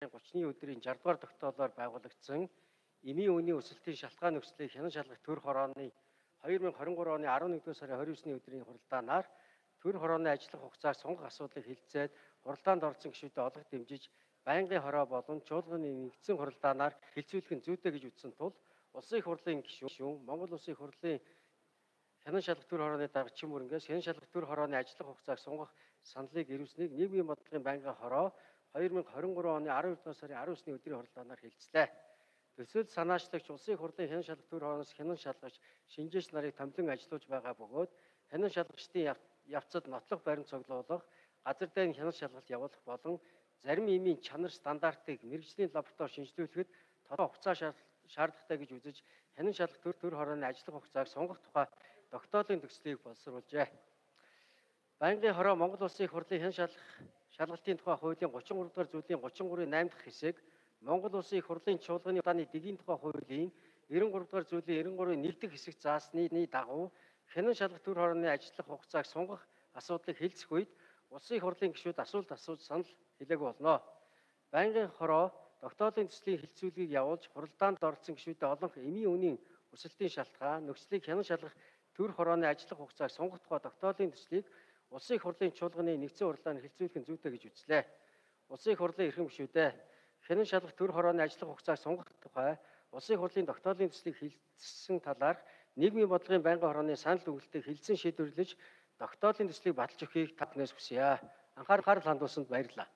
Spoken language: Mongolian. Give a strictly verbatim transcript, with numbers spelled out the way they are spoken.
гуравны өдрийн жишээ дугаар тогтоолоор байгуулагдсан эмийн үеийн өсөлтийн шалтгаан нөхцөлийг хянан шалгах төр хорооны хоёр мың хорин гурван оны арван нэгдүгээр сарын хорин есний өдрийн хуралдаанаар төр хорооны ажиллах хугацааг сонгох асуудлыг хэлэлцээд хуралдаанд орсон гишүүдэд олох дэмжиж байнгын хороо болон чуулганы нэгдсэн хуралдаанаар хэлцүүлэх нь зүйтэй гэж үзсэн тул улсын их хурлын гишүүн Монгол Улсын их хурлын хянан шалгах төр хорооны даргачин мөрөнгөөс хянан шалгах төр хорооны ажиллах хугацааг сонгох саналыг ирүүлснийг нийгмийн бодлогын байнгын хороо хоёр мың хорин гурван оны арван нэгдүгээр сарын арван есний өдрийн хуралдаанаар хэлцлээ. Төсөл санаачлагч улсын их хурлын хянан шалгах төр хорооноос хянан шалгагч шинжээч нарыг томилон ажиллуулж байгаа бөгөөд хянан шалгагчдын явцад нотлох баримт цуглуулах, газар дээн хянан шалгалт явуулах болон зарим эмийн чанар стандартыг мэргэжлийн лаборатори шинжилүүлэхэд тодорхой хугацаа шаардлагатай гэж үзэж хянан шалгах төр төр хорооны ажиллах хугацааг сонгох тухай тогтоолын төслийг боловсруулжээ. Байнгын хороо Монгол Улсын их хурлын хянан шалгах шалгалтын тухай хуулийн гучин гурав дахь зүйлийн гучин гурвын найм дахь хэсэг, Монгол Улсын их хурлын чуулганы удааны дэгийн тухай хуулийн девяносто гурав дахь зүйлийн девяносто гурвын нэг дахь хэсэг заасны дагуу хянан шалгах төр хорооны ажиллах хугацааг сонгох асуудлыг хэлцэх үед улсын их хурлын гишүүд асуулт асууж санал хэлээг болно. Байнгын хороо тогтоолын төслийн хэлцүүлгийг явуулж хуралдаанд оролцсон гишүүдэд олонх эмийн үнийн өсөлтийн шалтгаан нөхцөлийг хянан шалгах төр хорооны ажиллах хугацааг сонгох тухай тогтоолын төслийг улсын их хурлын чуулганы нэгдсэн хурлаанд хэлцүүлэх нь зүйтэй гэж үзлээ. Улсын их хурлын эрхэм гишүүдээ хянан шалгах төр хорооны ажиллах хугацааг сонгох тухай улсын их хурлын тогтоолын төслийг хэлэлцсэн талаарх нийгмийн бодлогын байнгын хорооны санал өгөлтийг хэлэлцэн шийдвэрлэж тогтоолын төслийг баталж өгөхийг та бүхнээс хүсье. Анхаарал хандуулсанд баярлалаа.